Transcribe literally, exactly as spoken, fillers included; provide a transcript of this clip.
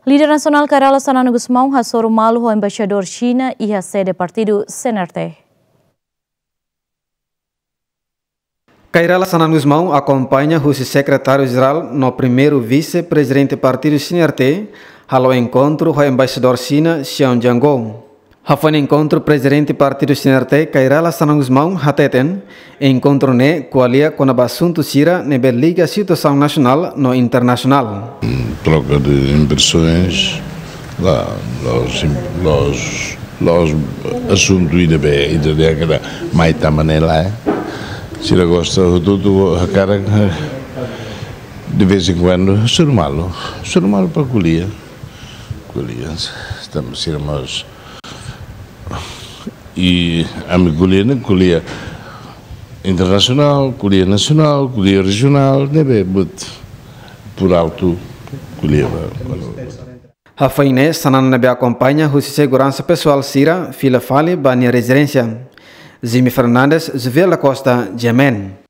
Líder nasionál Kay Rala Xanana Gusmão hasoru malu ho embaixadór Xina iha sede partidu C N R T. Kay Rala Xanana Gusmão akompaña husi sekretáriu-jerál no primeiru vise-prezidente partidu C N R T halo enkontru ho embaixadór Xina Xiao Jianguo. Hafoin enkontru, prezidente partidu C N R T Kay Rala Xanana Gusmão hateten, enkontru ne'e ko'alia kona-ba asuntu sira ne'ebé liga situasaun nasionál no internasionál. Troca de impressões, la, los, los, los asuntu ida be, ida de kada mai tama ne'e lae. Sira gosta hotu-hotu hakarak, de vez em quando, hasoru malu, hasoru malu para ko'alia. Ko'alia, tanba sira mós. I ami ko'alia ne'e, ko'alia internasionál, ko'alia nasionál, ko'alia rejionál, ne'ebé, but por alto, ko'alia ba, ba. Hafoin ne'e, Xanana ne'ebé akompaña husi seguransa pesoál sira fila fali ba nia rezidénsia. Jimmy Fernandes, Jovial da Costa, G M N.